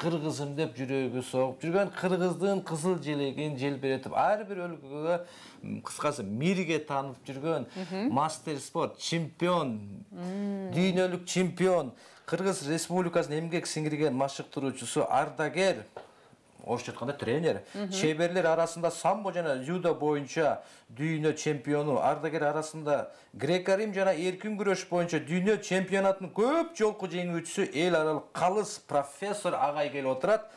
кыргызым деп жүрөгү согуп жүргөн, кыргыздын кызыл желегин желбиретип ар бир өлкөгө кыскасы мирге таанып жүргөн мастер спорт чемпион, дүйнөлүк чемпион, Кыргыз Республикасынын эмгек сиңирген машыктыруучусу, ардагер, орусча айтканда тренер, чеберлер арасында самбо жана дзюдо боюнча дүйнө чемпиону, ардагер арасында греко-рим жана эркин күрөш боюнча дүйнө чемпионатынын көп жолку жеңүүчүсү, эл аралык калыс профессор агай келип отурат.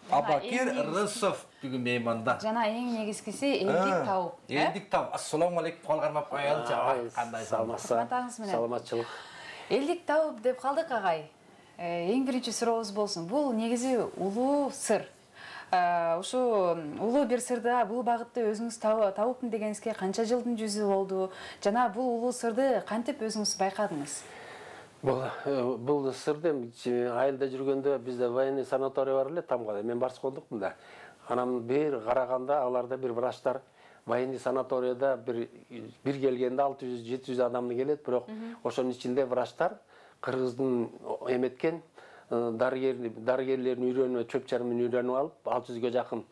Абакир Рысов бүгүн мейманда. Жана эң негизгиси элдик тауып. Элдик тауып. Ассаламу алейкум, калгармап коелучу. Кандай саламатсыз? Саламатчылык. Элдик тауып деп калдык агай. Эң биринчи сурообуз болсун. Бул негизи улуу сыр. Ушу улуу бир сырды, бул багытты өзүңүз табыптын дегениңизге канча жылдын жүзү болду? Жана бул улуу сырды кантип өзүңүз байкадыңыз? Бул сырды айылда жүргөндө бизде военный санаторий бар эле Тамгада. Мен барчы болдукмун да. Анан бир караганда аларда бир врачтар военный санаторияда бир келгенде 600-700 адамды келет, бирок ошонун ичинде врачтар кыргыздын эметкен дарыгерлердин үйрөнүп, чөп чармын үйрөнүп алып, 600ге жакын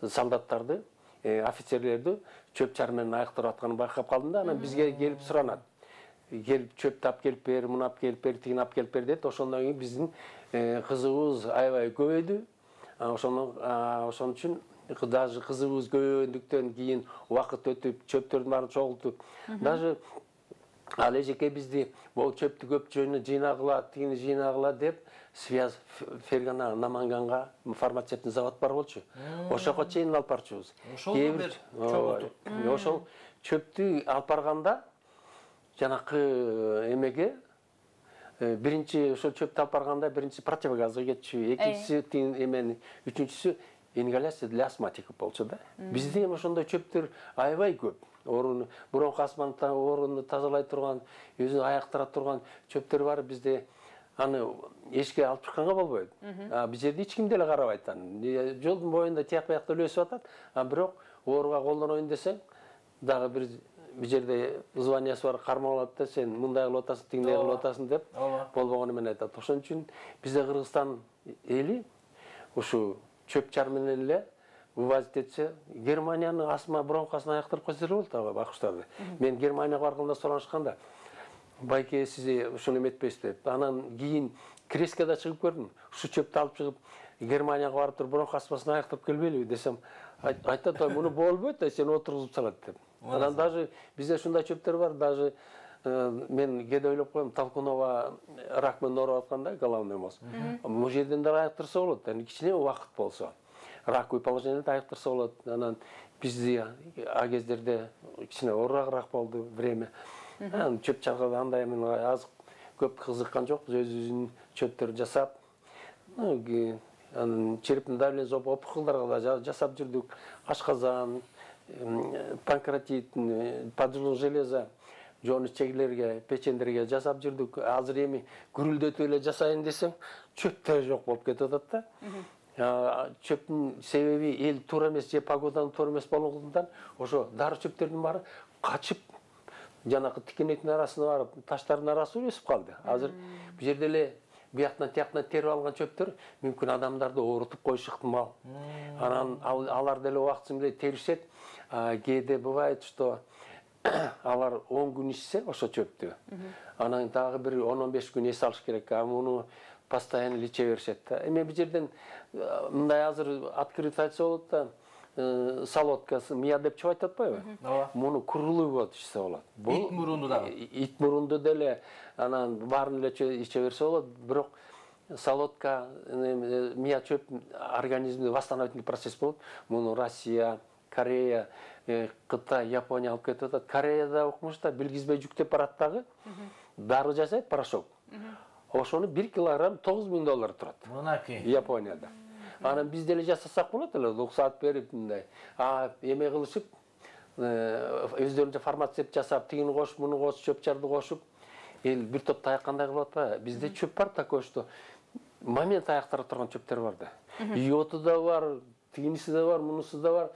солдаттарды, офицерлерди чөп чар менен айыктырып атканын байкап калдым да. Анан бизге келип суранат. Келип чөптү алып келип бер, муну алып келип бер, тигини алып келип бер дейт. Ошондон кийин биздин кызыгыбыз аябай көбөйдү. Ошон үчүн даже кызыгыбыз көбөйгөндүктөн кийин убакыт өтүп, чөптөрдүн баарын чогултуп, даже ал эжеке бизди бул чөптү көп жыйнагыла, тигини жыйнагыла деп связь Фергана Наманганга фармацевттин завод бар болчу. Ошого чейин алып барчубуз. Ошол чөптү алып барганда жанакы эмеге биринчи ошол чөптү алып барганда биринчи противогазга кетчү, экинчиси эмени, үчүнчүсү ингаляция для астматиков болчу да. Бизде ошондой чөптөр аябай көп. Бронх астманы орунду тазалай турган, өзүн айыктыра турган чөптөр бар бизде. Аны эшикке алып чыкканга болбойт. Биз жерде эч ким деле карабайт аны. Жолдун боюнда тияк биякта эле өсүп атат. Бирок ооруга колдоноюн десең, дагы бир жерде званиясы бар, кармап алат да, сен мындай кылып атасың, тигиндей кылып атасың деп болбогону менен айтат. Ошон үчүн бизде Кыргызстан эли ушу чөп чар менен эле вывозить этсе, Германиянын астма бронхасын айыктырып койсо болот акуштарды. Мен Германияга барганда суранышканда, байке сиз ушуну эметпейсиз деп. Анан кийин Крескада чыгып көрдүм. Ушу чөптү алып чыгып Германияга барып туруп бронх астмасын айыктырып келбейлиби десем, айтат, муну болбойт, сени отургузуп салат деп. Анан даже бизде ушундай чөптөр бар, даже мен кээде ойлоп коем, Толкунова рак менен ооруп атканда, головной мозг. Бул жерден да айыктырса болот, кичине убакыт болсо. Раковый положениеде айыктырса болот. Анан бизде а кездерде кичине оорурагыраак болду время. Чөп чарга андай мен аз көп кызыккан жокпуз, өзүбүздүн чөптөрдү жасап. Анан черептин давлениеси опухолдорго да жасап жүрдүк. Ашказан, панкреатит, поджог железа, жоонуч чегилерге, печендерге жасап жүрдүк. Азыр эми күрүлдөтүп эле жасайын десең, чөптөр жок болуп кетип атат да. Чөптүн себеби эл туура эмес же погоданын туура эмес болгондуктан ошо дары чөптөрдүн баары качып жанакы тикенектин арасына барып, таштардын арасына өсүп калды. Азыр бу жерде эле бияктан тияктан терип алган чөптөр мүмкүн адамдарды оорутуп коюшу ыктымал. Анан алар деле убактысы менен теришет. Кээде бывает, что алар 10 күн ичсе ошо чөптү. Анан дагы бир 10-15 күн эс алыш керек. Муну постоянно иче беришет да. Эми бу жерден мындай азыр открыто айтса болот да, солодка, мия деп чыгып атпайбы? Муну курулуу болот ичсе болот. Ит мурунду дагы. Ит мурунду деле анан баарын эле иче берсе болот, бирок солодка, мия чөп организмде восстановительный процесс болот. Муну Россия, Корея, Кытай, Япония алып кетип атат. Кореяда окумуштар билгизбей жүктөп барат дагы. Дары жасайт, порошок. Ошону 1 килограмм $9,000 турат. Мынакей. Японияда. Анан биз деле жасасак болот эле, руксат берип мындай. Эме кылышып, өздөрүнчө фармацевт жасап, тигини кошуп, муну кошуп, чөп чарды кошуп, эл бир топ таяк-кандай кылып атпайбы? Бизде чөп бар такой, что момент аяктыра турган чөптөр бар да. Йоту да бар, тигиниси да бар, мунусу да бар.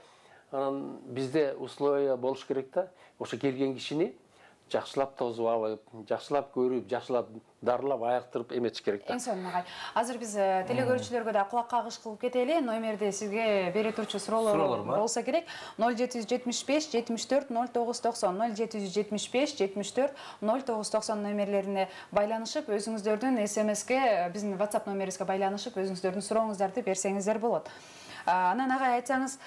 Анан бизде условия болуш керек да. Ошо келген кишини жакшылап тосуп алып, жакшылап көрүп, жакшылап дарылап, айыктырып эметиш керек да. Эң сонун агай. Азыр биз телегөрүүчүлөргө да кулак кагыш кылып кетели. Номерде сизге бере турчу суроолор болсо керек. 0775 74 0990 0775 74 0990 номерлерине байланышып, өзүңүздөрдүн СМСке, биздин WhatsApp номерибизге байланышып, өзүңүздөрдүн сурооңуздарды берсеңиздер болот. Анан агай айтсаңыз,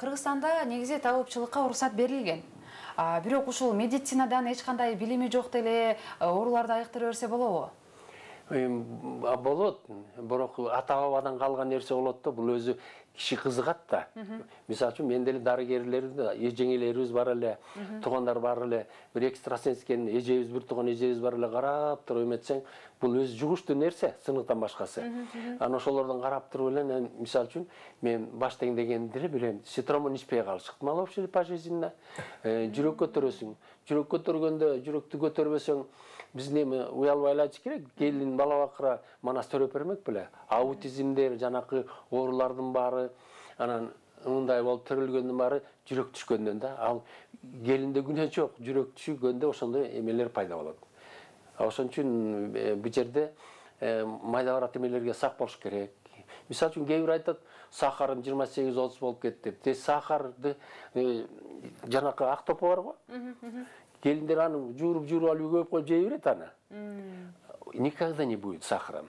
Кыргызстанда негизи табуучулукка уруксат берилген. Бирок ушул медицинадан эч кандай билими жок деле ооруларды айыктыра берсе болобу? Болот, бирок ата бабадан калган нерсе болот да, бул өзү киши кызыгат да. Мисалы үчүн мен деле дарыгерлер, эжеңелерибиз бар эле, туугандар бар эле, бир экстрасенс экен, эжебиз, бир тууган эжебиз бар эле, карап туруп эметсең, бул өзү жугуштуу нерсе, сыныктан башкасы. Анан ошолордон карап туруп эле, мисалы үчүн мен баштайын дегенде эле билем, ситромон ичпей калышык. Мало вообще пожизненно. Жүрөк көтөрөсүң. Жүрөк көтөргөндө, жүрөктү көтөрбөсөң, биздин эми уялып айлачы керек, келин бала бакыра манас төрөп бермек беле. Аутизмдер, жанакы оорулардын баары, анан мындай болуп төрөлгөндүн баары жүрөк түшкөндөн да. Ал келинде күнөө жок, жүрөк түшкөндө ошондой эмелер пайда болот. Ошон үчүн бул жерде майда барат эмелерге сак болуш керек. Мисалы үчүн кээ бир айтат, сахарым 28-30 болуп кетти деп. Те сахарды жанакы ак топо барго. Келиндер аны жууруп алып көйүп коюп жей берет аны. Никогда не будет сахаром.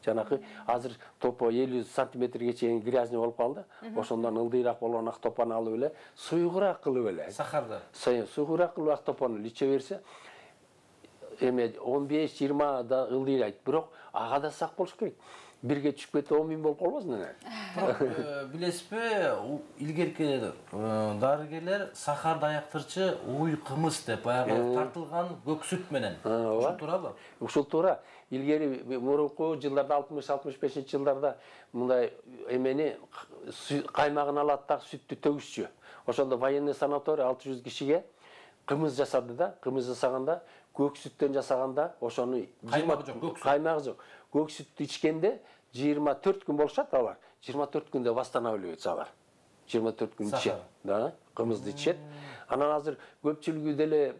Жанакы азыр топо 50 сантиметрге чейин грязный болуп калды. Ошондон ылдыйраак болгон ак топону алып эле, суюгураак кылып эле. Сахарды. Суюгураак кылып ак топону иче берсе, эме 15-20 да ылдыйрайт. Бирок ага да сак болуш керек. Бирге түшүп кетип 10 000 болуп калбасын эле. Билесизби, илгерки дарыгерлер сахарды айыктырчы уй кымыз деп баягы тартылган көк сүт менен. Ушул туурабы? Ушул туура. Илгери мурунку жылдарда 60-65 жылдарда мындай эмени каймагын алат да сүттү төгүшчү. Ошондо военный санаторий 600 кишиге кымыз жасады да, кымыз жасаганда көк сүттөн жасаганда ошону каймагы жок. Көк сүттү ичкенде 24 күн болушат алар. 24 күндө восстанавливается алар. 24 күн ичет. Да, кымызды ичет. Анан азыр көпчүлүгү деле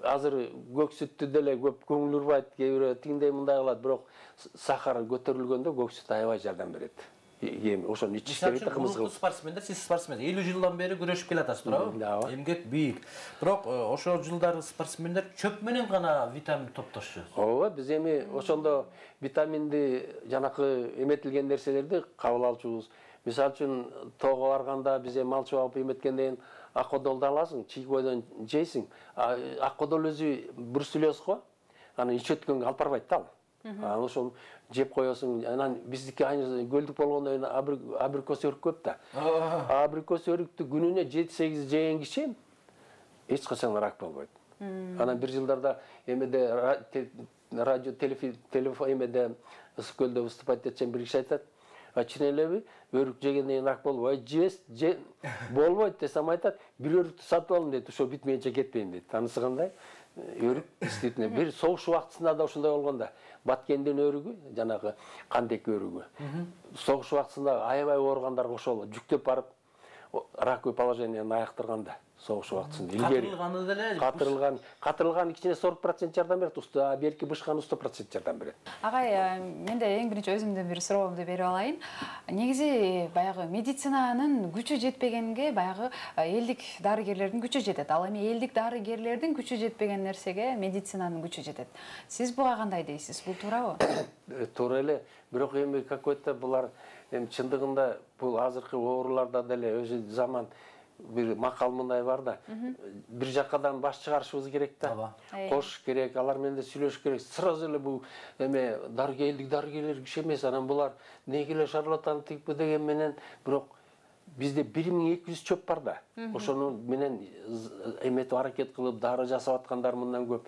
азыр көк сүттү деле көп көңүл урбайт, кээ бирөө тиңдей мындай кылат, бирок сахар көтөрүлгөндө көк сүт аябай жардам берет. Ошону ичиш керек да, кымыз кылып. Спортсмендер, сиз спортсмен 50 жылдан бери күрөшүп келатасыз, туурабы? Эмгек бийик. Бирок ошол жылдары спортсмендер чөп менен гана витамин топтошчу. Ооба, биз эми ошондо витаминди жанакы эметилген нерселерди кабыл алчубуз. Мисалы үчүн тоого барганда биз эми малчы алып эметкенден аккодолду аласың, чийкойдон жейсиң. Аккодол өзү бруцеллез го. Аны ичөткөнгө алып барбайт да ал. Анан ошол жеп коесуң. Анан биздики айны көлдүк болгондон кийин абрикос өрүк көп да. Абрикос өрүктү күнүнө 7-8 жеген киши эч качан рак болбойт. Анан бир жылдарда эмеде радио телефон эмеде Ысык-Көлдө выступать этчен бир киши айтат: "Чын элеби, өрүк жегенден кийин рак болбойт, болбойт" десем айтат, "Бир өрүктү сатып алдым" дейт, "Ошо бүтмөйүнчө кетпейм" дейт. Анысы кандай? Өрүк действительно бир согуш убактысында да ошондой болгондо, Баткендин өрүгү, жанагы Кандек өрүгү. Согуш убактысында аябай ооругандарга ошол жүктөп барып раковый положениени айыктырганда. Согуш убактысында илгери катырылганы деле катырылган ичине 40% жардам берет, уста берки бышканы 100% жардам берет. Агай, менде эң биринчи өзүмдүн бир суроомду берип алайын. Негизи баягы медицинанын күчү жетпегенге баягы элдик дарыгерлердин күчү жетет. Ал эми элдик дарыгерлердин күчү жетпеген нерсеге медицинанын күчү жетет. Сиз буга кандай дейсиз? Бул туурабы? Туура эле. Бирок эми какой-то булар эми чындыгында бул азыркы ооруларда деле өзү заман бир макал мындай бар да. Бир жакадан баш чыгарышыбыз керек да. Кош керек, алар менен да сүйлөшүш керек. Сразу эле бул эме дарыгерлер киши эмес. Анан булар негеле шарлатан типи деген менен, бирок бизде 1200 чөп бар да. Ошону менен эметип аракет кылып дары жасап аткандар мындан көп.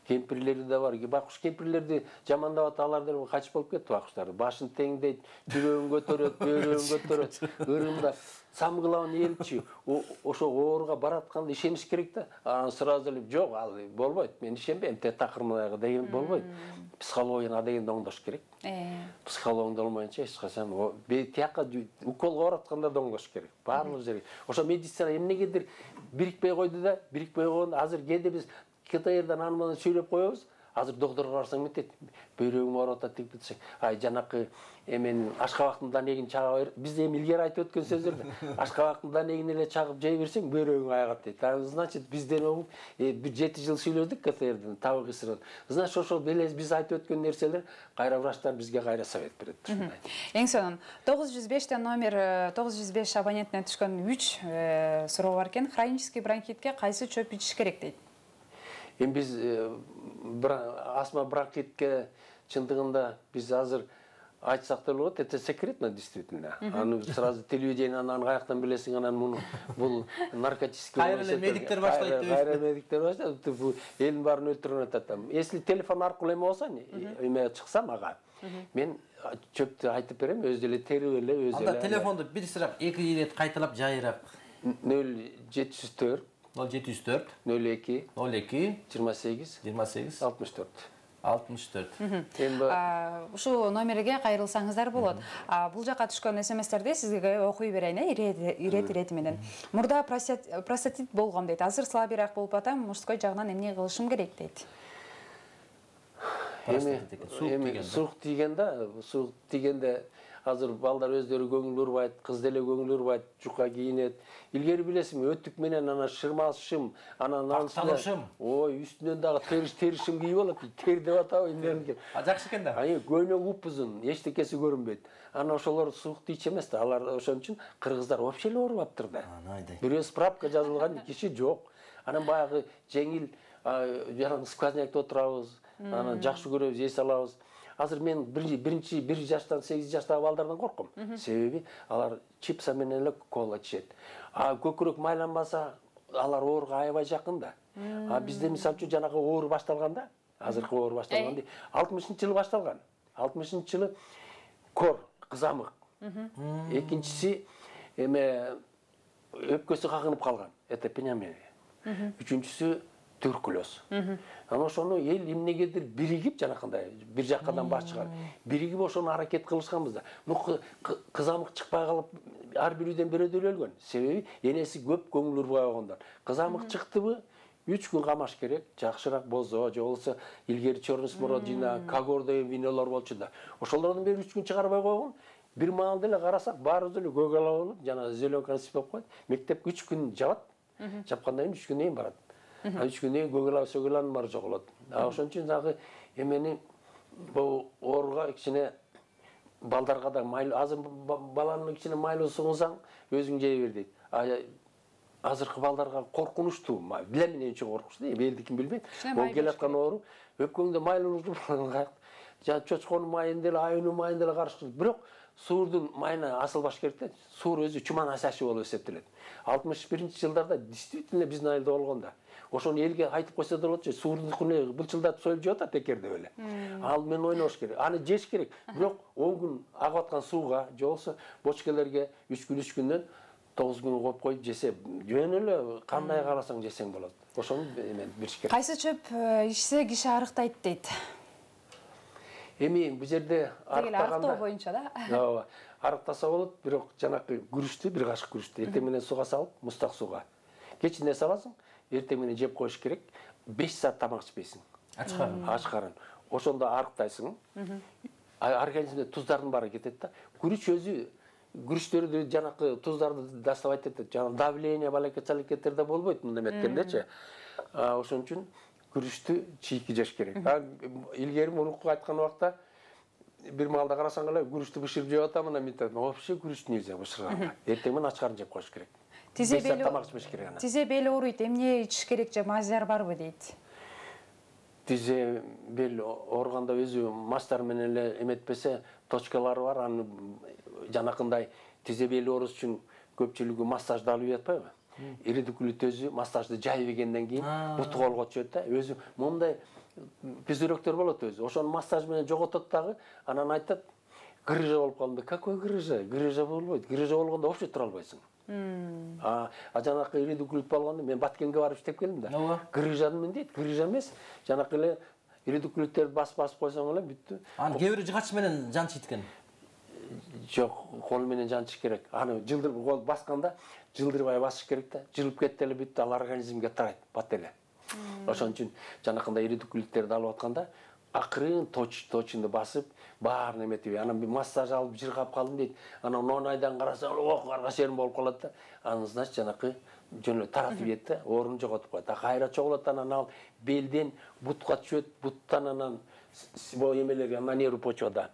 Кемпирлери да бар. Бакуш кемпирлерди жамандап аталар деле качып болуп кетти бакуштар. Башын теңдейт, жүрөгүн көтөрөт, бөөрөгүн көтөрөт, ырымда самгылабын элчи. Ошо ооруга баратканда ишениш керек да. Анан сразу эле жок, ал болбойт. Мен ишенбейм, такырмайга деген болбойт. Психологияга деген оңдош керек. Психология болмойнчо эч качан тияка уколго баратканда да оңдош керек. Баардык жерге. Ошо медицина эмнегедир бирикпей койду да, бирикпей койгондо азыр кээде биз КТРдан аны менен сүйлөп коебуз. Азыр доктурга барсаң мынтет, бөйрөгүм ооруп атат деп десең, ай жанакы эмен ашкабактын эгин чага бер. Биз эми илгери айтып өткөн сөздөрдө ашкабактын эгин эле чагып жей берсең бөйрөгүң айыгат дейт. Значит, бизден огуп бир 7 жыл сүйлөдүк КТРдин табык ысырын. Значит, ошол белес биз айтып өткөн нерселер кайра врачтар бизге кайра совет берет. Эң сонун 905 номер 905 абонентине түшкөн 3 суроо бар экен. Хронический бронхитке кайсы чөп ичиш керек дейт? Эми биз астма бронхитке чындыгында биз азыр айтсак да болот, это секретно действительно. Аны сразу телевидениеден аны каяктан билесиң, анан муну бул наркотический кайра эле медиктер баштайт деп. Кайра медиктер баштайт. Бул элдин баарын өлтүрүп атат. Если телефон аркылуу эме болсо, эме чыкса мага, мен чөптү айтып берем, өзү эле терип эле, өзү эле. Анда телефонду бир сырак 2 ирет кайталап жайыраак. 0704 0704 02 02 28 28 64. 64. Ушул номерге кайрылсаңыздар болот. Бул жака түшкөн СМСтерди сизге окуй берейин, ирет менен. Мурда простатит болгом дейт. Азыр слабыйраак болуп атам, мужской жагынан эмне кылышым керек дейт. Эми суук тийгенде азыр балдар өздөрү көңүл урбайт, кыз деле көңүл урбайт, жука кийинет. Илгери билесиңби, өтүк менен ана шырмалышым, анан акталышым. Ой, үстүнөн дагы теришим кийип алат, тер деп атабы индерин. Жакшы экен да. Көйнөк упузун, эчтекеси көрүнбөйт. Анан ошолор суук тийчү эмес да. Алар ошон үчүн кыргыздар вообще эле оорубаптыр да. Бирөө справка жазылган киши жок. Анан баягы жеңил жанагы сквознякта отурабыз, анан жакшы көрөбүз, эс алабыз. Азыр мен 1 жаштан 8 жаштагы балдардан корком. Себеби алар чипса менен эле кола ичет. Көкүрөк майланбаса, алар ооруга аябай жакын да. Бизде мисалы үчүн жанагы оору башталганда, азыркы оору башталганда 60-жылы башталган. 60-жылы кор, кызамык. Экинчиси эме өпкөсү кагынып калган. Это пневмония. Үчүнчүсү туберкулез. Анан ошону эл эмнегедир биригип жанакындай бир жаккадан баш чыгар. Биригип ошону аракет кылышканбыз да. Кызамык чыкпай калып ар бирүүдөн бирөөдөр өлгөн. Себеби энеси көп көңүл урбай койгондор. Кызамык чыктыбы 3 күн камаш керек, жакшыраак бозо, же болбосо илгери черный смородина, когор деген винолор болчу да. Ошолордун бери 3 күн чыгарбай койгон. Бир маалда эле карасак, баарыбыз эле көк ала болуп, жана зеленка сипеп коет. Мектеп 3 күн жабат. Жапкандан кийин 3 күндөн кийин барат. 3 күндөн кийин көк ала, сөгөланын баары жоголот. Ошон үчүн дагы эмени бул ооруга кичине балдарга да майлуу, азыр баланы кичине майлуу сугунсаң, өзүң жей бер дейт. Азыркы балдарга коркунучтуу, билем эмне үчүн коркунучтуу, элдикин билбейт. Бул келаткан оору өпкөңдө майлуу чочконун майын деле, айынын майын деле карышты. Бирок суурдун майына асылбаш керек да. Суур өзү чуман асашы болуп эсептелет. 61-жылдарда действительно биздин айылда болгон да. Ошону элге айтып койсо да болот же, суурдукуну былчылдатып союп жеп атат текердеп эле. Ал менен ойнош керек. Аны жеш керек. Бирок 10 күн агып аткан сууга, же болбосо бочкелерге 3 күндөн 9 күн коюп коюп жесе, жөн эле кандай кааласаң жесең болот. Ошону эме бериш керек. Кайсы чөп ичсе киши арыктайт дейт? Эми бул жерде арыктоо боюнча да. Ооба. Арыктаса болот, бирок жанакы күрүчтү, бир кашык күрүчтү эртең менен сууга салып, мустак сууга. Кечинде саласың, эртең менен жеп коюш керек. 5 саат тамак ичпейсиң. Ач карын. Ошондо арыктайсың. Организмде туздардын баары кетет да. Күрүч өзү күрүчтөрдү жанакы туздарды доставать этет. Жана давление, балакет-салекеттерде болбойт мындай эметкендечи. Ошон үчүн күрүчтү чийки жеш керек. Илгери мурунку айткан убакта бир маалда карасаң эле күрүчтү бышырып жеп атам, анан мен айтам, вообще күрүч нельзя бышырганга. Эртең менен ач карын жеп коюш керек. Тизе бели ооруйт, эмне ичиш керек же, мазяр барбы дейт? Тизе бел ооруганда өзү мастар менен эле эметпесе, точкалары бар. Аны жанакындай тизе бели оорусу үчүн көпчүлүгү массажды алып жатпайбы? Иридикулит өзү массажды жайып ийгенден кийин буту колго түшөт да. Өзү мондай пүзүрөктөр болот өзү. Ошону массаж менен жоготот дагы, анан айтат, грыжа болуп калды. Какой грыжа? Грыжа болбойт. Грыжа болгондо вообще тура албайсың. Жанакы иридикулит болгондо мен Баткенге барып иштеп келдим да. Грыжамен дейт, грыжа эмес. Жанакы эле иридикулиттерди басып койсоң эле бүттү. Аны кээ бирөө жыгач менен жанчыйт экен. Жок, кол менен жанчыш керек. Аны жылдырып кол басканда жылдырбай басыш керек да. Жылып кетти эле бүттү, ал организмге тарайт, бат эле. Ошон үчүн жанакындай ири дүкүлүктөрдү алып атканда акырын точунду басып баарын эметип анан бир массаж алып жыргап калдым дейт. Анан нонайдан карасаң каргаш жерим болуп калат да. Анан значит жанакы жөн эле таратып ийет да, орун жоготуп коет. Кайра чогулат анан ал белден бутка түшөт, буттан анан эмелерге на нервы почвада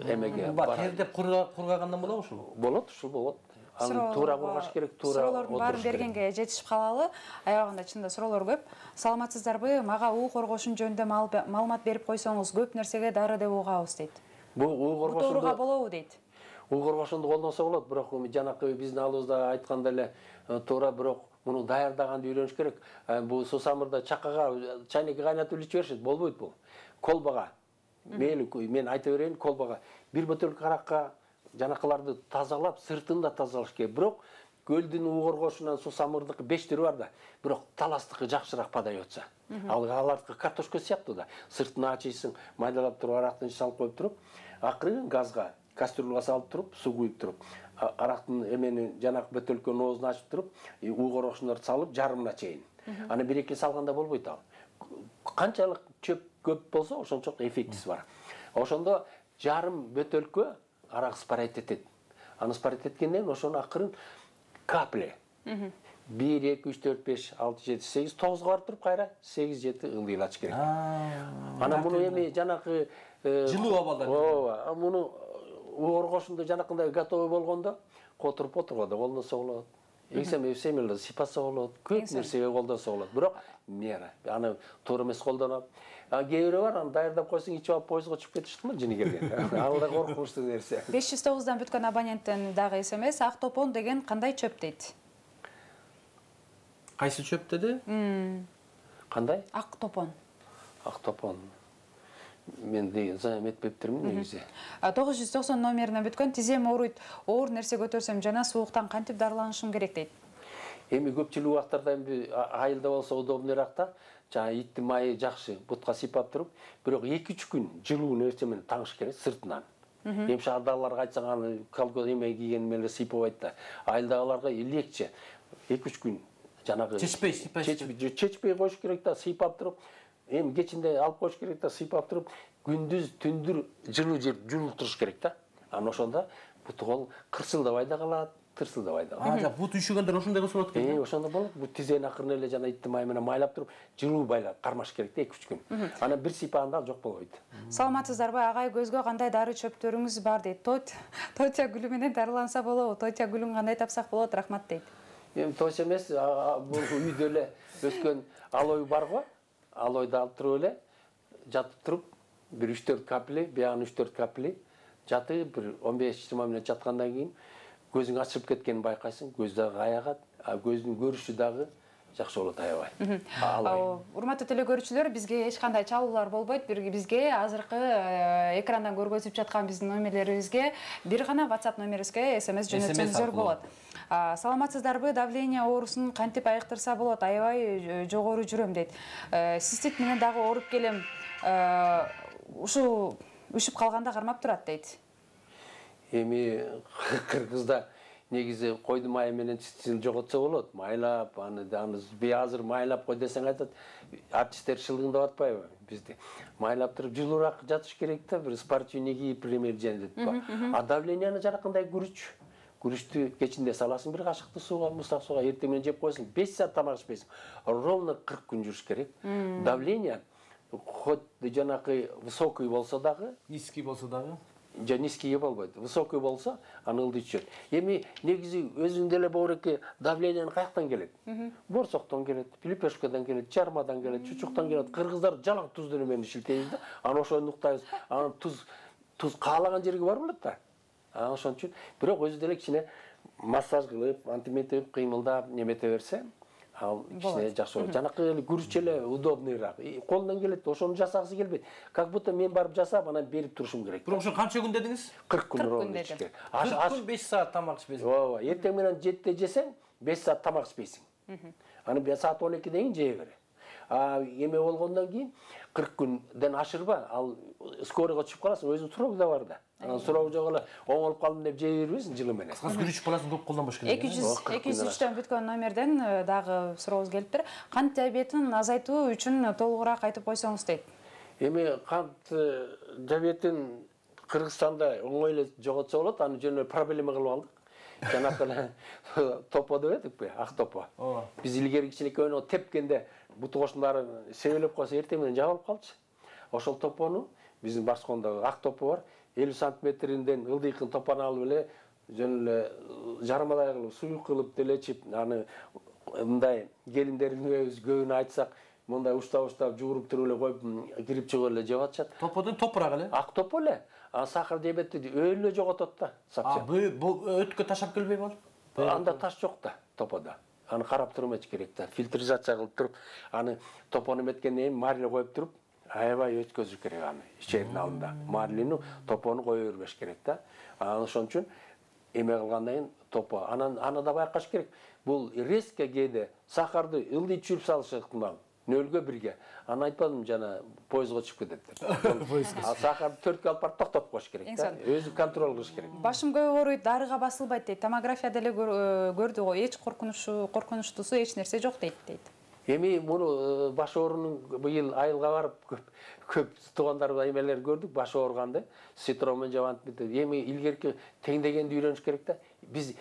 эмеге барат. Тердеп кургагандан болобу ушул? Болот, ушул болот. Аны туура кургаш керек, туура. Суроолордун баарын бергенге жетишип калалы. Аябагында чында суроолор көп. Саламатсыздарбы? Мага уу коргошун жөнүндө маалымат берип койсоңуз, көп нерсеге дары деп угабыз дейт. Бул уу коргошунду тууруга болобу дейт. Уу коргошунду колдонсо болот, бирок жанакы биздин алдыбызда айткандай эле туура, бирок муну даярдаганды үйрөнүш керек. Бул сусамырда чакага чайнекке кайнатып иче беришет, болбойт бул. Колбага. Мейли мен айта берейин, колбага бир бөтөлкө аракка жанакыларды тазалап, сыртын да тазалаш керек. Бирок көлдүн уу коргошунан сусамырдыкы 5 түрү бар да, бирок таластыкы жакшыраак падай атса. Алардыкы картошка сыяктуу да. Сыртын ачыйсың, майдалап туруп, арактын салып коюп туруп, акырын газга, кастрюлга салып туруп, суу куюп туруп, арактын эмени жанакы бөтөлкөнүн оозун ачып туруп, уу коргошундарды салып жарымына чейин. Аны 1-2 салганда болбойт ал. Канчалык чөп көп болсо, ошончолук эффектиси бар. Ошондо жарым бөтөлкө арак спарать этет. Аны спарать эткенден кийин ошону акырын капля. 1, 2, 3, 4, 5, 6, 7, 8, 9 барып туруп кайра 8, 7 ылдыйлач керек. Анан муну эми жанакы жылуу абалда. Ооба, муну коргошунду жанакындай готовый болгондо которуп отурганда колдонсо болот. Семелде сипаса болот, көп нерсеге колдонсо болот. Бирок мера, аны туура эмес колдонуп. Кээ бирөө бар, аны даярдап койсоң, ичип алып поездго чыгып кетиштиңби жини келген. Ал да коркунучтуу нерсе. 509дан бүткөн абоненттен дагы СМС Актопон деген кандай чөп дейт? Кайсы чөп деди? Кандай? Актопон. Актопон. Мен деген эметпептирмин негизи. 990 номерине бүткөн тизем ооруйт, оор нерсе көтөрсөм жана сууктан кантип дарыланышым керек дейт. Эми көпчүлүк убактарда эми айылда болсо удобныйраак да. Жана иттин майы жакшы, бутка сыйпап туруп, бирок 2-3 күн жылуу нерсе менен таңыш керек сыртынан. Эми шаардагыларга айтсаң аны колгоз эме кийген менен сыйпабайт да. Айылдагыларга легче 2-3 күн жанагы чечпей коюш керек да, сыйпап туруп, эми кечинде алып коюш керек да, сыйпап туруп, күндүз түндүр жылуу жер жуултуруш керек да. Анан ошондо буту кол кырсылдабай да калат, тырсылдабай да калат. Бут үйшөгөндөр ошондой кылса болот экен. Ошондо болот. Бут тизени акырын эле жана иттин майы менен майлап туруп, жылуу байлап кармаш керек да 2-3 күн. Анан бир сыйпаганда жок болбойт. Саламатсыздарбы? Агай, көзгө кандай дары чөптөрүңүз бар дейт. Тотя гүлү менен дарыланса болобу? Тотя гүлүн кандай тапсак болот? Рахмат дейт. Эми точ эмес, бул үйдө эле өскөн алой барго, алойду алып туруп эле жатып туруп, бир 3-4 капли, биягын 3-4 капли жатып, бир 15-20 мүнөт жаткандан кийин көзүң ачылып кеткенин байкайсың, көз дагы аягат, көздүн көрүшү дагы жакшы болот аябай. Урматтуу телекөрүүчүлөр, бизге эч кандай чалуулар болбойт. Бизге азыркы экрандан көргөзүп жаткан биздин номерлерибизге бир гана WhatsApp номерибизге SMS жөнөтсөңүздөр болот. Саламатсыздарбы? Давление оорусун кантип айыктырса болот? Аябай жогору жүрөм дейт. Цистит менен дагы ооруп келем. Ушу үшүп калганда кармап турат дейт. Эми Кыргызда негизи койдун майы менен циститин жоготсо болот. Майлап, аны азыр майлап кой десең айтат, артисттер шылыңдап атпайбы бизди. Майлап туруп жылуураак жатыш керек да, бир спортивный кийип, пример жендет. А давленияны жанакындай күрүчтү кечинде саласың бир кашыкты сууга, мустак сууга, эртең менен жеп койсоң, 5 саат тамак ичпейсиң. Ровно 40 күн жүрүш керек. Давление хоть жанакы высокий болсо дагы, низкий болсо дагы, низкий болбойт. Высокий болсо аны ылдый түшөт. Эми негизи өзүндө эле боореке давлениянын каяктан келет? Борсоктон келет, лепешкадан келет, чармадан келет, чучуктан келет. Кыргыздар жалаң туздуу менен шилтейбиз да. Аны ошону уктайбыз. Анан туз каалаган жерге барып элет да. Ошон үчүн бирок өзү деле кичине массаж кылып, антиметип кыймылдап немете берсе, ал кичине жакшы болот. Жанакы эле күрүч эле удобныйраак. Колунан келет, ошону жасагысы келбейт. Как будто мен барып жасап, анан берип турушум керек. Бирок ошо канча күн дедиңиз? 40 күн ровно ичиш керек. 40 күн 5 саат тамак ичпейсиң. Ооба, эртең менен 7-те жесең, 5 саат тамак ичпейсиң. Аны саат 12ден кийин жей бер. Эме болгондон кийин 40 күндөн ашырба, ал скорыйга чыгып каласың, өзүң суроо да бар да. Анан суроо жок эле оңолуп калдым деп жей бербейсиң жылы менен. Кыскасы күрүчүп каласың, көп колдонбош керек. 203төн бүткөн номерден дагы сурообуз келиптир. Кант диабетин азайтуу үчүн толугураак айтып койсоңуз дейт. Эми кант диабетин Кыргызстанда оңой эле жоготсо болот, аны жөн эле проблема кылып алдык. Жанакы эле топо деп этикпи, ак топо. Биз илгери кичинекей ойноп тепкенде буту кошундары себелеп койсо эртең менен жабылып калчу. Ошол топону биздин Барскондо ак топо бар. 50 сантиметринден ылдыйкын топону алып эле жөн эле жарымадай кылып суюк кылып деле ичип, аны мындай келиндериңиз көбүнө айтсак, мындай уштап жууруп туруп эле коюп кирип чыгып эле жеп атышат. Топодон топураак эле. Ак топо эле. Сахар диабетти өлү жоготот да. Бул өткө ташап келбей болду? Анда таш жок да топодо. Аны карап туруп эч керек да. Фильтризация кылып туруп, аны топону эметкенден кийин марле коюп туруп, аябай өткөзүш керек аны. Ичеринин алдында. Марлени топону кое бербеш керек да. Ошон үчүн эме кылгандан кийин топо. Аны да байкаш керек. Бул резко кээде сахарды ылдый чүйүп салышы ыкмал. Нөлгө бирге. Аны айтпадым жана поездго чыгып кетет деп. Сахарды 4-кө алып барып токтотуп коюш керек да. Өзү контроль кылыш керек. Башым көп ооруйт, дарыга басылбайт дейт. Томография деле көрдү го. Эч коркунучтуусу эч нерсе жок дейт. Эми муну баш оорунун быйыл айылга барып көп туугандар эмелер көрдүк, баш ооруганды. Ситромен жабант бит. Эми илгерки теңдегенди үйрөнүш керек да. Биз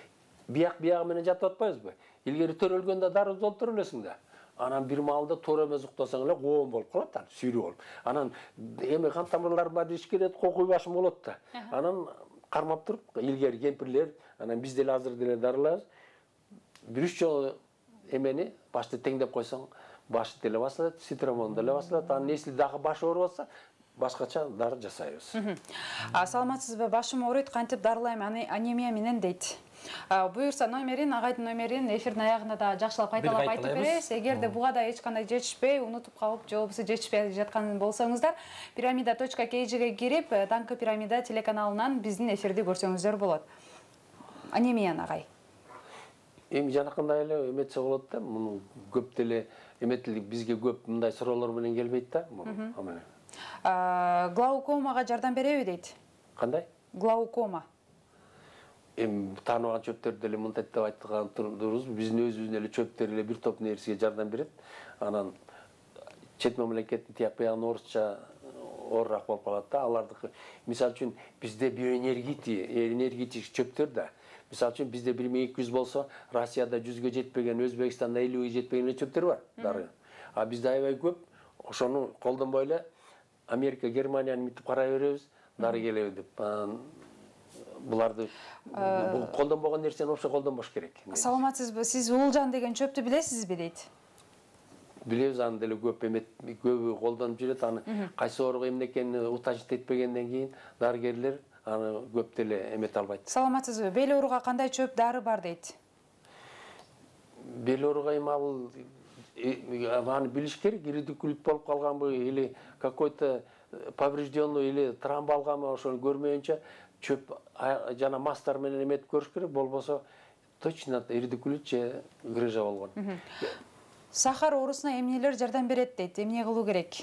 бияк менен жатып атпайбызбы? Илгери төрөлгөндө дары толтуруп элесиң да. Анан бир маалда туура эмес уктасаң эле коом болуп калат, сүйрүү болуп. Анан эми кан тамырлар бар ишкерет, кокуй башым болот да. Анан кармап туруп, илгери кемпирлер, анан биз деле азыр деле дарылабыз. 1-3 жолу эмени башты теңдеп койсоң, башы деле басылат, ситромон деле басылат. Анан если дагы баш ооруп атса, башкача дары жасайбыз. Саламатсызбы? Башым ооруйт, кантип дарылайм, анемия менен дейт. Буюрса номерин, агайдын номерин эфирдин аягында да жакшылап кайталап айтып беребиз. Эгерде буга да эч кандай жетишпей, унутуп калып, же болбосо жетишпей жаткан болсоңуздар, pyramida.kg'ге кирип, Таңкы Пирамида телеканалынан биздин эфирди көрсөңүздөр болот. Анемияны агай. Эми жанакындай эле эметсе болот да, муну көп деле эметилик, бизге көп мындай суроолор менен келбейт да. Глаукомага жардам береби дейт. Кандай? Глаукома. Эми тааныбаган чөптөр деле мынтет деп айткан турубуз. Биздин өзүбүздүн эле чөптөр эле бир топ нерсеге жардам берет. Анан чет мамлекеттин тияк биягын орусча оорураак болуп калат да. Алардыкы мисалы үчүн бизде энергетик чөптөр да. Мисалы үчүн бизде 1200 болсо, Россияда 100гө жетпеген, Өзбекстанда 50гө жетпеген эле чөптөр бар. Дары. А бизде аябай көп. Ошону колдонбой эле Америка, Германияны митип карай беребиз, дары келеби деп. Буларды колдонбогон нерсени вообще колдонбош керек. Саламатсызбы? Сиз уулжан деген чөптү билесизби дейт? Билебиз, аны деле көбү колдонуп жүрөт. Аны кайсы ооруга эмне экенин утажит этпегенден кийин дарыгерлер аны көп деле эмете албайт. Саламатсызбы? Бел ооруга кандай чөп дары бар дейт? Бел ооруга эми аны билиш керек, иридикулит болуп калганбы или какой-то поврежденный или травма алганбы, ошону көрмөйүнчө чөп жана мастар менен эметип көрүш керек, болбосо точно иридикулит же грыжа болгон. Сахар оорусуна эмнелер жардам берет дейт? Эмне кылуу керек?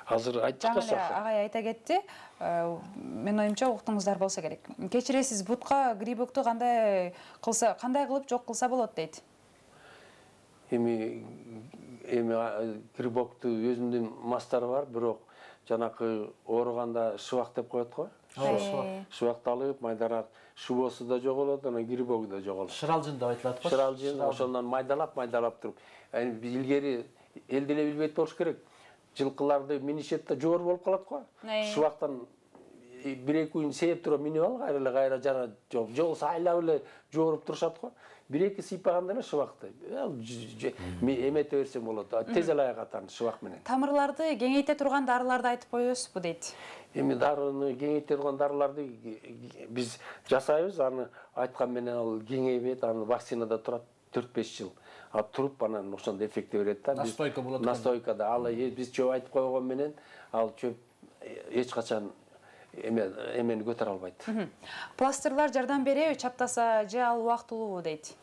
Азыр айтчыкка сахар. Агай айта кетти. Мен оюмча уктуңуздар болсо керек. Кечиресиз, бутка грибокту кандай кылып жок кылса болот дейт? Эми грибокту өзүнүн мастары бар, бирок жанакы ооруганда шыбак деп коет го. Шыбакты алып, майдарак шубосу да жоголот, анан грибогу да жоголот. Шыралжын деп айтылат го. Шыралжын, ошондон майдалап туруп. Илгери эл деле билбейт болуш керек. Жылкыларды минишет да жоор болуп калат го. Шыбактан 1-2 күн сээп туруп минип ал, кайра жана жок. Жолсо айлап эле жооруп турушат го. 1-2 сыйпаганда эле шыбакты эмете берсең болот. Тез эле айгатан шыбак менен. Тамырларды кеңейте турган дарыларды айтып коесузбу дейт? Эми дарыны кеңейте турган дарыларды биз жасайбыз. Аны айткан менен ал кеңейбейт, аны вакцинада турат 4-5 жыл. Туруп анан ошондо эффекти берет да. Настойка болот. Настойкада ал биз чөп айтып койгон менен ал чөп эч качан эмени көтөрө албайт. Пластырлар жардам береби, чаптаса же ал убактылуубу дейт?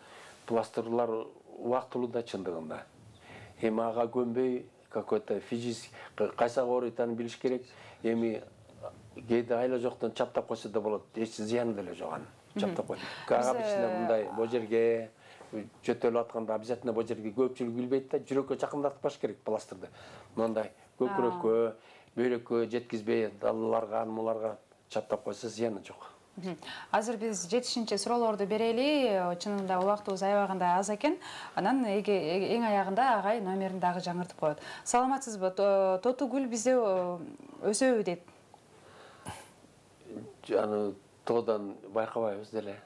Пластырлар убактылуу да чындыгында. Эми ага көнбөй какой-то физический кайсага ооруйтанын билиш керек. Эми кээде айла жоктон чаптап койсо да болот, эч зыяны деле жок анын. Чаптап койду. Обычно мындай бул жерге жөтөлүп атканда обязательно бул жерге көпчүлүк билбейт да, жүрөккө жакындатпаш керек пластырды. Мындай көкүрөккө, бөйрөккө жеткизбей, далаларга, анмаларга чаптап койсо зыяны жок. Азыр биз жетишинче суроолорду берели. Чынында убактыбыз аябаганда аз экен. Анан эң аягында агай номерин дагы жаңыртып коет. Саламатсызбы? Тотугүл бизде өсөбү дейт. Аны тоодан байкабайбыз деле.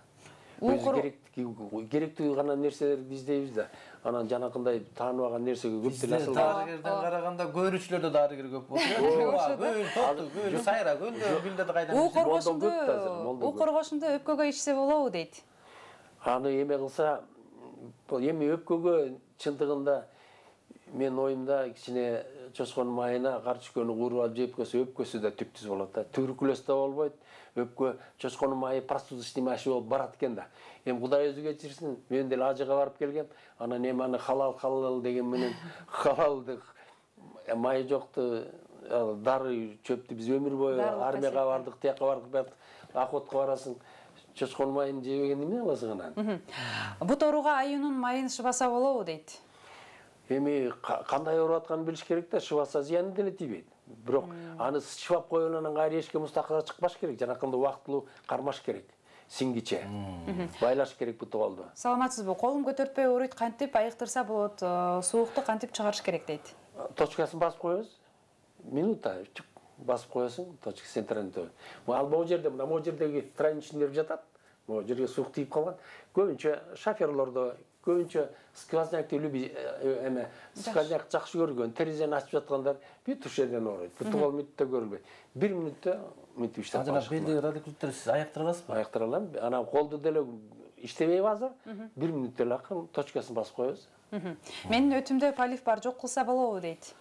Керектүү гана нерселерди издейбиз да. Анан жанакындай тааныбаган нерсеге көп деле асыл. Дарыгерден караганда көрүүчүлөрдө дарыгер көп болот. Гөл, сайра, гөлдө билдеди кайдан. У коргошунду өпкөгө ичсе болобу дейт. Аны эме кылса, эми өпкөгө чындыгында мен оюмда кичине чочкон майына кар түшкөнү кууруп алып жеп койсо өпкөсү да түптүз болот да. Туберкулез да болбойт. Өпкө чочкон майы простуда снимающий болуп барат экен да. Эми Кудай өзү кечирсин, мен деле ажыга барып келгем. Анан эми аны халал деген менен халалдык майы жокту дары чөптү биз өмүр бою армияга бардык, тияка бардык, охотко барасың. Чочкон майын жебеген эмне кыласың анан? Бут ооруга аюунун майын шыбаса болобу дейт. Эми кандай ооруп атканын билиш керек да, шыбаса зыяны деле тийбейт. Бирок аны шыбап койгондон кайра эшикке мустакыл чыкпаш керек, жанакында убактылуу кармаш керек. Сиңгиче байлаш керек бут колду. Саламатсызбы? Колум көтөртпөй ооруйт, кантип айыктырса болот? Суукту кантип чыгарыш керек дейт. Точкасын басып коебуз. Минута басып коесуң, точка центральный. Ал могу жерде, могу жердеги тройный нерв жатат. Могу жерге суук тийип калган. Көбүнчө шоферлордо, көбүнчө сквознякты эме сквозняк жакшы көргөн, терезени ачып жаткандар бүт ушерден ооруйт. Бут кол мүнөттө көрүлбөйт. 1 мүнөттө мынтип иштеп Жана белди радикулиттер сиз айыктыра аласызбы? Айыктыра алам. Анан колду деле иштебейби азыр. 1 мүнөттө эле акырын точкасын басып коебуз. Менин өтүмдө полив бар, жок кылса болобу дейт.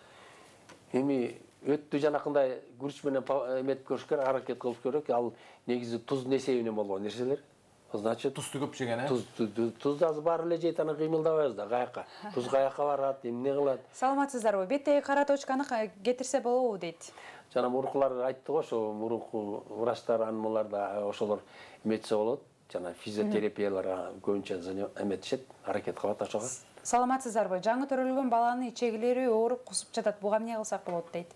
Эми өттү жанакындай күрүч менен эметип көрүш керек, аракет кылып көрөк. Ал негизи туздун эсебинен болгон нерселер. Значит, тузду көп жеген, Тузду азыр баары эле жейт, анан кыймылдабайбыз да, каяка. Туз каяка барат, эмне кылат? Саламатсыздарбы? Беттеги кара точканы кетирсе болобу дейт. Жана мурункулар айтты го, ошо мурунку врачтар анмаларда ошолор эметсе болот. Жана физиотерапияларга көбүнчө эметишет, аракет кылат ошого. Саламатсыздарбы? Жаңы төрөлгөн баланы ичегилери ооруп кусуп жатат. Буга эмне кылсак болот дейт.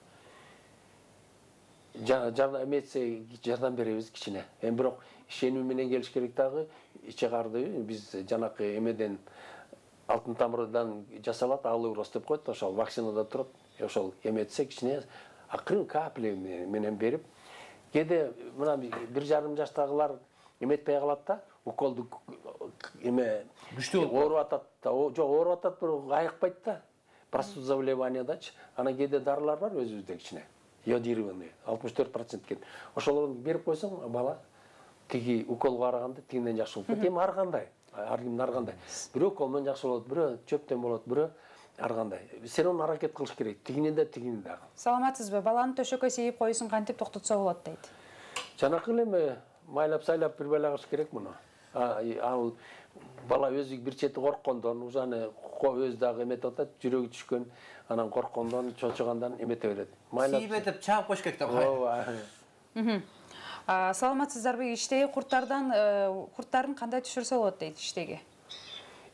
Жардам эметсе жардам беребиз кичине. Эми бирок ишенүү менен келиш керек дагы. Иче карды биз жанакы эмеден алтын тамырдан жасалат, алыурос деп коет, ошол вакцинада турат. Ошол эметсе кичине акырын капля менен берип, кээде мына 1,5 жаштагылар эметпей калат да, уколду эме күчтүү ооруп атат да, жок ооруп атат, бирок айыкпайт да. Простуда заболеваниядачы. Анан кээде дарылар бар өзүбүздө кичине. Йодированный 64% кен. Ошолорду берип койсоң, бала тиги уколго караганда тигинден жакшы болуп кетет. Эми ар кандай, ар кандай. Бирөө уколдон жакшы болот, бирөө чөптөн болот, бирөө ар кандай. Сен оны аракет кылыш керек. Тигинен дагы. Саламатсызбы? Баланы төшөккө сейип коюусун кантип токтотсо болот дейт. Жанакы эле майлап сайлап бир байлагыш керек муну. Ал бала өзү бир чети корккондон, ужаны өзү дагы эметип атат, жүрөгү түшкөн, анан корккондон, чочугандан эмете берет. Сейбетип чаап коюш керек да. Ооба. Саламатсыздарбы? Иштеги курттарын кандай түшүрсө болот дейт иштеги.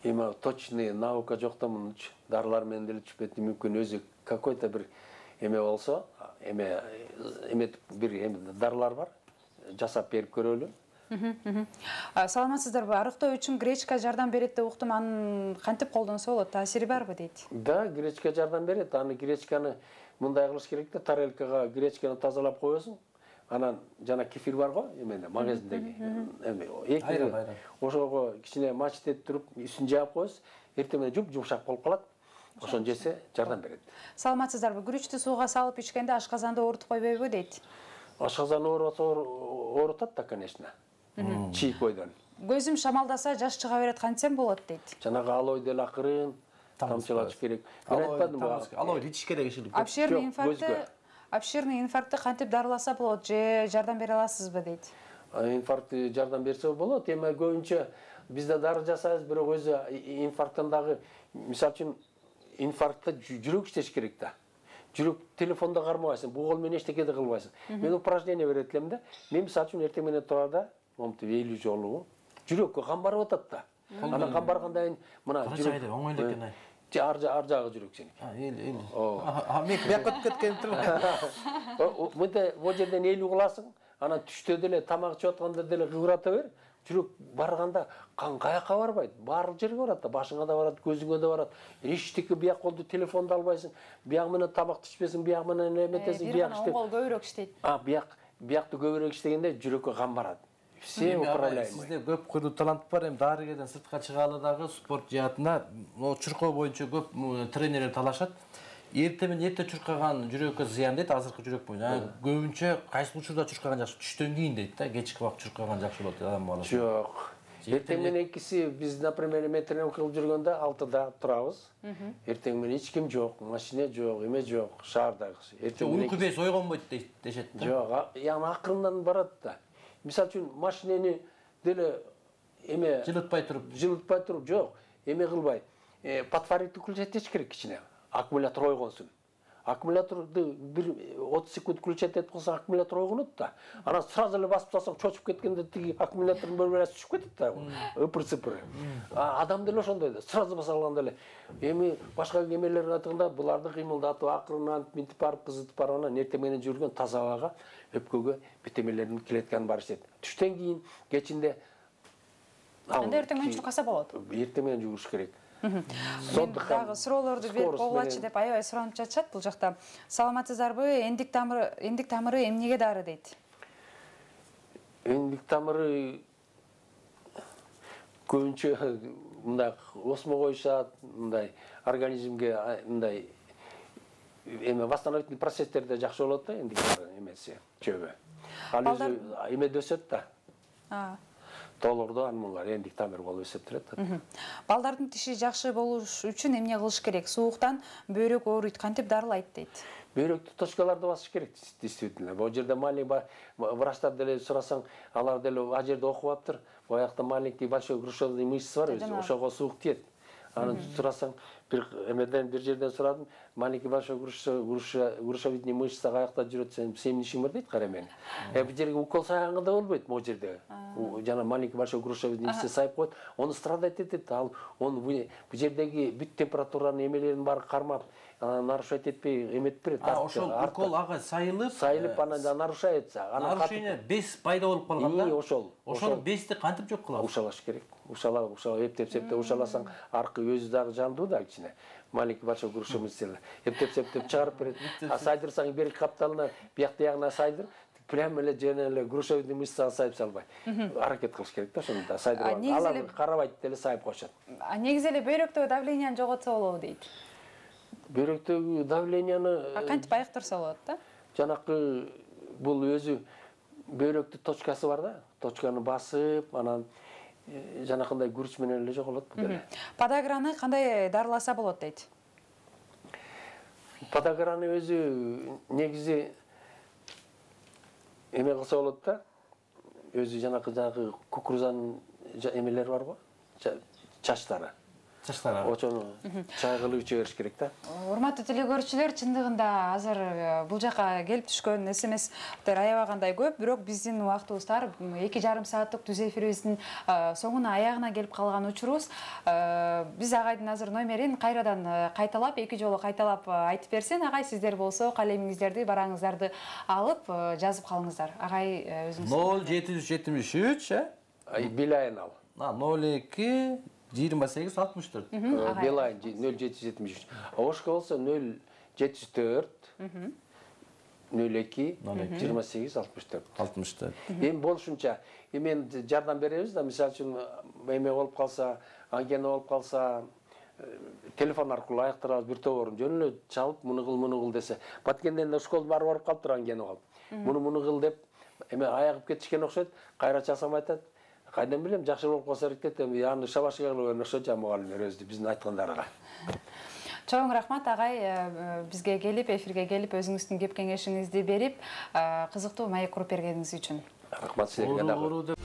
Эми точный наука жок да мунчу. Дарылар менен деле түшпөйт, мүмкүн өзү какой-то бир эме болсо, эметип бир дарылар бар. Жасап берип көрөлү. Саламатсыздарбы? Арыктоо үчүн гречка жардам берет деп уктум. Аны кантип колдонсо болот? Таасири барбы дейт. Да, гречка жардам берет. Аны гречканы мындай кылыш керек да, тарелкага гречканы тазалап коесуң. Анан жана кефир бар го, эменде магазиндеги. Эки ошого кичине мачтеп туруп, үстүн жаап коесуң. Эртең менен жумшак болуп калат. Ошону жесе жардам берет. Саламатсыздарбы? Күрүчтү сууга салып ичкенде ашказанды оорутуп койбойбу дейт. Ашказан оорутат да, конечно. Чийип бойдон. Көзүм шамалдаса жаш чыга берет, кантсем болот дейт. Жанагы алой деле акырын тамчылатыш керек. Мен айтпадым ба? Алой ичиш керек иши. Обширный инфарктты кантип дарыласа болот же жардам бере аласызбы дейт. Инфарктты жардам берсе болот. Эми көбүнчө бизде дары жасайбыз, бирок өзү инфаркттан дагы, мисалы үчүн инфарктта жүрөк иштеш керек да. жүрөк телефонда кармабайсың, бугол менен эчтеке да кылбайсың. Мен упражнение берет элем да. Мен мисалы үчүн эртең менен турарда, монтип 50 жолу жүрөккө кан барып атат да. Анан кан баргандан кийин мына жүрөк оңой экен ай. Ар жагы жүрөк сеники. Эл. Мен бияка өтүп кеткен турмун. Мындай бул жерден 50 кыласың, анан түштө деле тамак ичип атканда деле кыбырата бер. Жүрөк барганда кан каяка барбайт, баардык жерге барат да, башыңа да барат, көзүңө да барат. Эчтеке бияк колду телефонду албайсың, бияк менен тамак ичпесиң, бияк менен эметесиң, бияк иштеп. Оң кол көбүрөөк иштейт. Биякты көбүрөөк иштегенде жүрөккө кан барат. Все управляемый. Сизде көп кырлуу талант бар, эми дарыгерден сыртка чыгалы дагы спорт жаатына чуркоо боюнча көп тренерлер талашат. Эрте менен эрте чуркаган жүрөккө зыян дейт, азыркы жүрөк боюнча. Көбүнчө кайсы учурда чуркаган жакшы? Түштөн кийин дейт да, кечки убакыт чуркаган жакшы болот дейт адам баласы. Жок. Эртең менен экиси биз, например, тренировка кылып жүргөндө 6-да турабыз. Эртең менен эч ким жок, машина жок, эме жок, шаардагы. Эртең уйку беш ойгонбойт дешет да. Жок, яна акырындан барат да. Мисалы үчүн машинени деле эме жылытпай туруп жок, эме кылбай. Подфаритти включать этиш керек кичине. Аккумулятор ойгонсун. Аккумуляторду 30 секунд включать этип калсаң, аккумулятор ойгонот да. Анан сразу эле басып салсаң, чочуп кеткенде тиги аккумулятордун бөлмөсү түшүп кетет да. Ыпыр-сыпыр. Адам деле ошондой да. Сразу баса алганда эле. Эми башка эмелерге айтканда, буларды кыймылдатып, акырындан минтип барып, кызытып барып, анан эртең менен жүргөн таза абага өпкөгө битемелердин клетканы бар иштейт. Түштөн кийин кечинде Анда эртең менен чуркаса болот. Эртең менен жүгүрүш керек. Мен дагы суроолорду берип койгулачы деп аябай суранып жатышат бул жакта. Саламатсыздарбы? Эндик тамыры эмнеге дары дейт? Эндик тамыры көбүнчө мындай осмо коюшат, мындай организмге мындай эме восстановительный процесстерде жакшы болот да, эндик тамыры эмеси, чөбү. Ал өзү эмеде өсөт да. Толордо анмалар эндик тамыр болуп эсептелет. Балдардын тиши жакшы болуш үчүн эмне кылыш керек? Сууктан бөйрөк ооруйт, кантип дарылайт дейт? Бөйрөктү точкаларды басыш керек, действительно. Бул жерде маленький врачтар деле сурасаң, алар деле а жерде окуп аптыр. Боякта маленький большой грушевидный мышца бар өзү, ошого суук тиет. Аны сурасаң, бир жерден сурадым, маленький большой грушевидный мышца каякта жүрөт, сен семинишиң бар дейт, кара мен. Бул жерге укол сайганда да болбойт, могу жерде. Жана маленький большой грушевидный мышца сайып коет, аны страдать этет, ал он бул жердеги бүт температуранын эмелерин баары кармап, нарушать этпей эметип берет. Ошол укол ага сайылып, анан нарушается. Нарушение без пайда болуп калганда. Ошол бести кантип жок кылабыз? Ушалаш керек. Ушала эптеп ушаласаң, аркы өзү дагы жандуу да кичине. Маленький большой грушевидный мышца. Эптеп чыгарып берет. Сайдырсаң бери капталына, биякта ягына сайдыр. Прямо эле жана эле грушевидный мышцага сайып салбай. Аракет кылыш керек да ошондо. Сайдырып алар карабайт деле сайып коюшат. Негизи эле бөйрөктөгү давленияны жоготсо болобу дейт. Бөйрөктөгү давленияны кантип айыктырса болот да? Жанакы бул өзү бөйрөктүн точкасы бар да. Точканы басып, анан жанакындай күрүч менен эле жоголот бул деле. Подаграны кандай дарыласа болот дейт? Подаграны өзү негизи эме кылса болот да. Өзү жанакы кукурузанын эмелери барбы? Чачтары. Ошону чай кылып иче бериш керек да. Урматтуу телекөрүүчүлөр, чындыгында азыр бул жака келип түшкөн СМСтер аябагандай көп, бирок биздин убактыбыздар 2,5 сааттык түз эфирибиздин соңуна аягына келип калган учурубуз. Биз агайдын азыр номерин кайрадан кайталап, 2 жолу кайталап айтып берсин. Агай, сиздер болсо калемиңиздерди, бараңыздарды алып жазып калыңыздар. Агай өзүңүз 0773, Билайн ал. 02 28-64. Билайн 0773. Ошко болсо 074 02 28-64. Эми болушунча эмен жардам беребиз да, мисалы үчүн эме болуп калса, ангина болуп калса, телефон аркылуу аяктырабыз, бир тоборун жөн эле чалып, муну кыл десе. Баткенден школдун баары барып калыптыр ангина болуп. Муну кыл деп эме аягып кетишкен окшойт, кайра чалсам айтат. Кайдан билем, жакшы болуп калса эртет, аны шабашка кылып окшойт жа мугалимдер өзү биздин айткандарга. Чоң рахмат агай, бизге келип, эфирге келип, өзүңүздүн кеп кеңешиңизди берип, кызыктуу маек куруп бергениңиз үчүн. Рахмат силерге дагы.